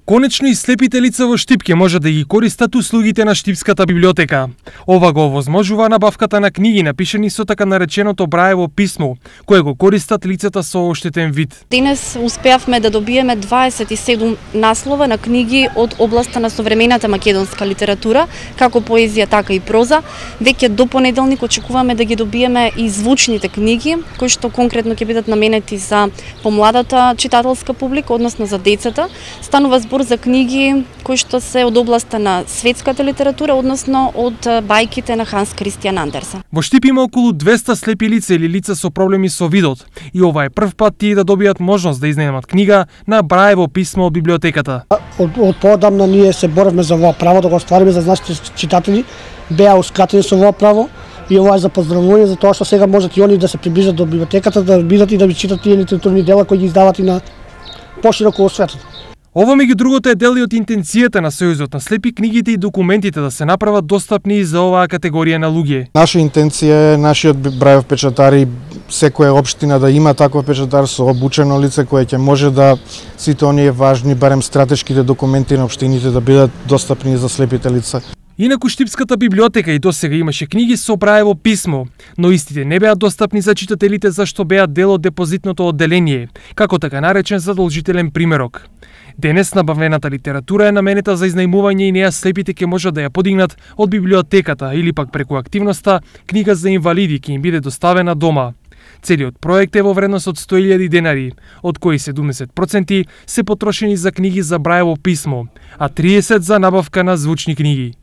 Конечно и слепите лица во Штип ќе може да ги користат услугите на Штипската библиотека. Ова го овозможува набавката на книги напишани со така нареченото Браево писмо, кое го користат лицата со оштетен вид. Денес успеавме да добиеме 27 наслова на книги од областа на современата македонска литература, како поезија, така и проза. Веќе до понеделник очекуваме да ги добиеме и звучните книги, кои што конкретно ќе бидат наменети за помладата читателска публика, односно за децата. Станува збор за книги кои што се од областа на светската литература, односно од бајките на Ханс Кристијан Андерсен. Во Штип има околу 200 слепи лица или лица со проблеми со видот, и ова е прв пат тие да добијат можност да изнемат книга на Браево писмо од библиотеката. Од поодамна ние се боривме за ова право да го оствариме за нашите читатели, беа ускратени со ова право. И ова е за поздравување, за тоа што сега можат и они да се приближат до библиотеката, да видат и да читат тие литературни дела кои ги издават и на пошироко во светот. Ова меѓу другото е дел и од интенцијата на Сојузот на слепи книгите и документите да се направат достапни и за оваа категорија на луѓе. Наша интенција е нашиот Браев печатари, секоја општина да има таков печатар со обучено лице кое ќе може да сите оние важни, барем стратешките документи на општините да бидат достапни за слепите лица. Инаку Штипската библиотека и досега имаше книги со Браево писмо, но истите не беа достапни за читателите зашто беа дел од депозитното одделение, како така наречен задолжителен примерок. Денес набавената литература е наменета за изнајмување и неа слепите ќе можат да ја подигнат од библиотеката или пак преку активноста книга за инвалиди ќе им биде доставена дома. Целиот проект е во вредност од 100.000 денари, од кои 70% се потрошени за книги за Браево писмо, а 30% за набавка на звучни книги.